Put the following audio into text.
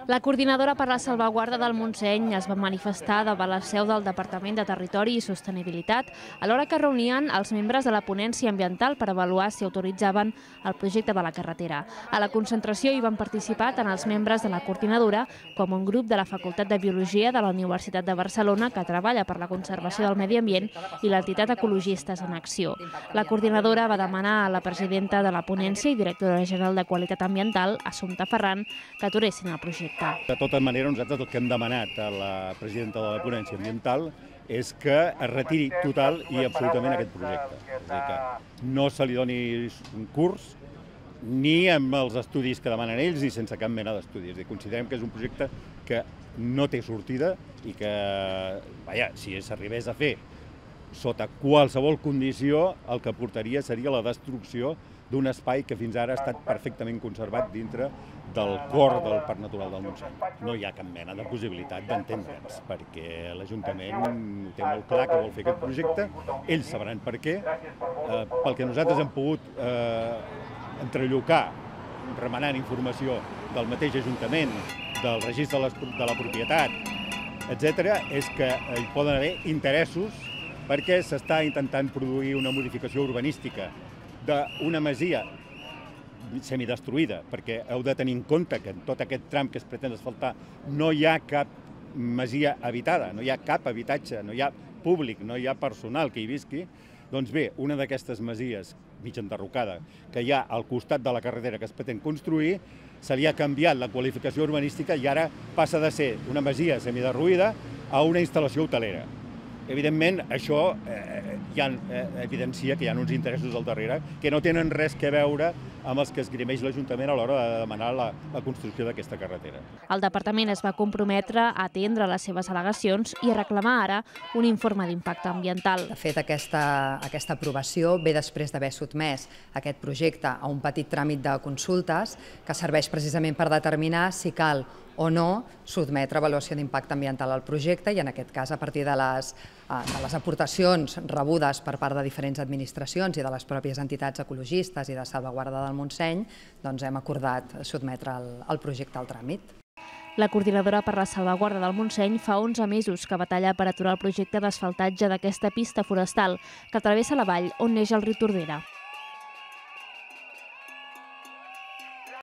La coordinadora per la salvaguarda del Montseny es va manifestar davant la seu del Departament de Territori i Sostenibilitat a l'hora que reunien els membres de la ponència ambiental per avaluar si autoritzaven el projecte de la carretera. A la concentració hi van participar tant els membres de la coordinadora com un grup de la Facultat de Biologia de la Universitat de Barcelona que treballa per la conservació del medi ambient i l'entitat Ecologistes en Acció. La coordinadora va demanar a la presidenta de la ponència i directora general de Qualitat Ambiental, Assumpta Ferran, que aturessin el projecte. De tota manera, nosaltres el que hem demanat a la presidenta de la ponència ambiental és que es retiri total i absolutament aquest projecte. És a dir, que no se li doni un curs ni amb els estudis que demanen ells ni sense cap mena d'estudis. Considerem que és un projecte que no té sortida i que, si s'arribés a fer sota qualsevol condició, el que portaria seria la destrucció d'un espai que fins ara ha estat perfectament conservat dintre del cor del Parc Natural del Montseny. No hi ha cap mena de possibilitat d'entendre'ns, perquè l'Ajuntament té molt clar que vol fer aquest projecte, ells sabran per què, pel que nosaltres hem pogut entrellocar, remenant informació del mateix Ajuntament, del registre de la propietat, etc., és que hi poden haver interessos perquè s'està intentant produir una modificació urbanística d'una masia semidestruïda, perquè heu de tenir en compte que en tot aquest tram que es pretén asfaltar no hi ha cap masia habitada, no hi ha cap habitatge, no hi ha públic, no hi ha personal que hi visqui. Doncs bé, una d'aquestes masies mig enderrocada que hi ha al costat de la carretera que es pretén construir, se li ha canviat la qualificació urbanística i ara passa de ser una masia semiderruïda a una instal·lació hotelera. Evidentment, això evidencia que hi ha uns interessos al darrere que no tenen res a veure amb els que esgrimeix l'Ajuntament a l'hora de demanar la construcció d'aquesta carretera. El departament es va comprometre a atendre les seves al·legacions i a reclamar ara un informe d'impacte ambiental. De fet, aquesta aprovació ve després d'haver sotmès aquest projecte a un petit tràmit de consultes que serveix precisament per determinar si cal o no sotmetre avaluació d'impacte ambiental al projecte i, en aquest cas, a partir de les aportacions rebudes per part de diferents administracions i de les pròpies entitats ecologistes i de salvaguarda del Montseny, doncs hem acordat sotmetre el projecte al tràmit. La coordinadora per la salvaguarda del Montseny fa 11 mesos que batalla per aturar el projecte d'asfaltatge d'aquesta pista forestal que travessa la vall on neix el riu Tordera.